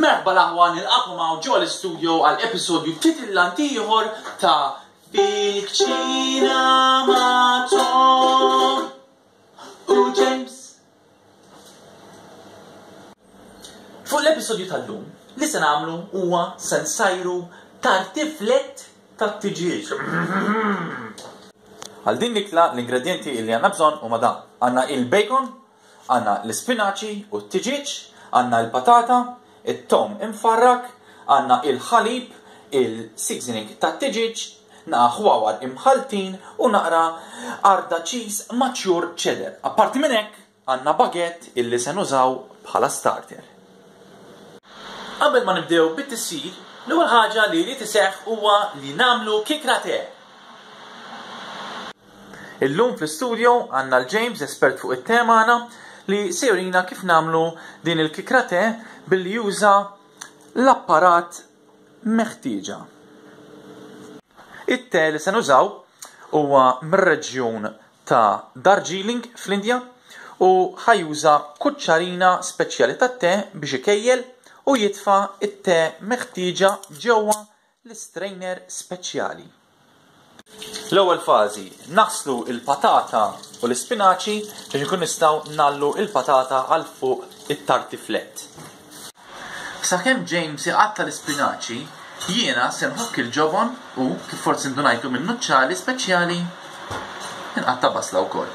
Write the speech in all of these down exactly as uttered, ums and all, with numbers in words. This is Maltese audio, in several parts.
Merħba l-aħwa, nilqakom hawn ġo l-istudio għal episodju titillant ieħor ta' Fil-Kċina ma' Tom u James. Fuq l-episodju tal-lum, li se nagħmlu huwa se nsajru tartiflett tat-tiġieġ. Għal din l-ikla l-ingredjenti li għandna bżonn huma dan. Għandna il-bacon, għandna l-ispinaċi u t-tiġieġ, għandna l-patata, it-tom imfarrak, għandna il-ħalib, il-seasoning tat-tiġieġ, naqa ħwawar imħaltin u naqra arda cheese mature cheddar. Apparti minn hekk, għandna baguette illi se nużaw bħala starter. Qabel ma nibdew bit-tisjir, l-ewwel ħaġa li jrid iseħħ huwa li nagħmlu kikra te. Illum fl-istudio għandna l-James, espert fuq it-te magħna, li se jurina kif nagħmlu din il-kikra te billi juża l-apparat meħtieġa. It-te li se nużaw huwa mir-reġjun ta' Darjeeling fl-Indja u ħa juża kuċċarina speċjali tat-te biex ikejjel u jitfa' it-te meħtieġa ġewwa l-istrainer speċjali. L-ewwel fażi, naħslu il-patata u l-ispinaċi biex nkun nistgħu nallu il-patata għal fuq it-tartiflett. Sakemm James iqatta' l-ispinaċi, jiena se nħokk il-ġobon u, kif forsi ndunajtu minn nuċċali speċjali, nqatta' basla wkoll.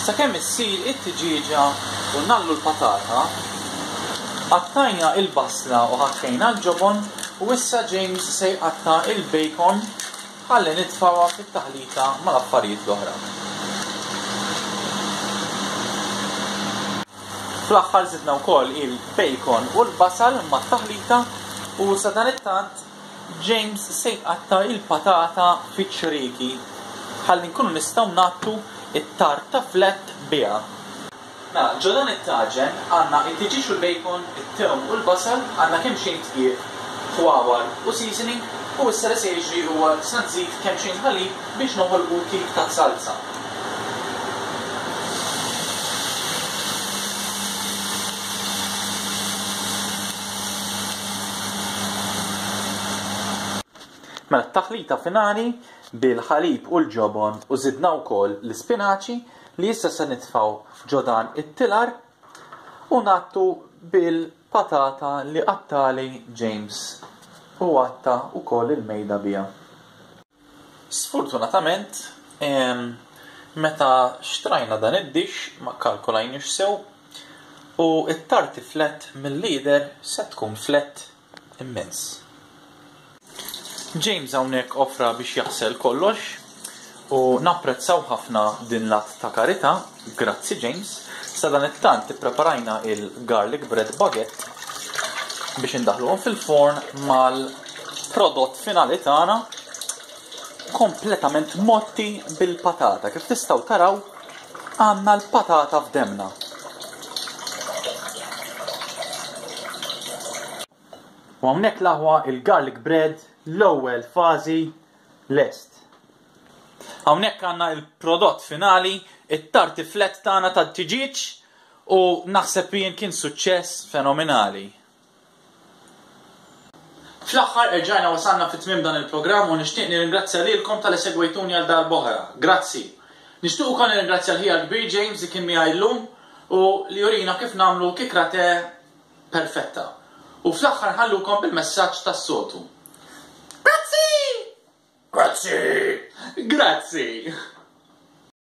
Sakemm issir it-tiġieġa u nallu l-patata, qattajna il-basla u ħakkejna l-ġobon u issa James se jqatta' il-bacon ħalli nitfgħuha fit-taħlita mal-affarijiet l-oħra. Fl-aħħar żidna wkoll il-bacon u l-basal mat-taħlita u sadanittant James se jqatta' il-patata fiċ-ċrieki ħalli nkunu nistgħu ngħattu it-tartiflett biha. Mela, ġo dan it-taġen għandna it-tiġieġ u l-bacon, it-tewm u l-basal, għandna kemm xejn dqiq, ħwawar u seasoning, u issa li se jiġri huwa se nżid kemm xejn ħalib biex noħolqu tip ta' salsa. Mela t-taħlita finali bil-ħalib u l-ġobon u żidna wkoll l-ispinaċi li issa se nitfgħu ġo dan it-tilar u ngħattu bil-patata li qattali James u għatta wkoll il-mejda biha. Sfortunatament, em, meta xtrajna dan id-dix ma kkalkulajniex sew u it-tartiflett mill-lider se tkun flett immens. James hawnhekk offra biex jaħsel kollox u napprezzaw ħafna din l-att ta' karità, grazzi James. Sadanittant ippreparajna il-garlic bread baguette biex indaħluhom fil-forn mal-prodott finali tagħna kompletament motti bil-patata. Kif tistgħu taraw għandna l-patata f'demna. U hawnhekk l-aħwa il-garlic bread l-ewwel fażi lest. Hawnhekk għandna il-prodott finali, it-tartiflett tagħna tat-tiġieġ u naħseb jien kien suċċess fenomenali. Fl-aħħar erġajna wasalna fi tmiem dan il-programm u nixtieq nirringrazzja lilkom talli segwejtuni għal darb'oħra. Grazzi. Nixtieq ukoll nirringrazzja l-ħija l-kbir James li kien miegħi llum u li jurina kif nagħmlu kikra te perfetta. U fl-aħħar nħallukom bil-messaġġ tas-soltu. Grazzi! Grazzi! Grazzi!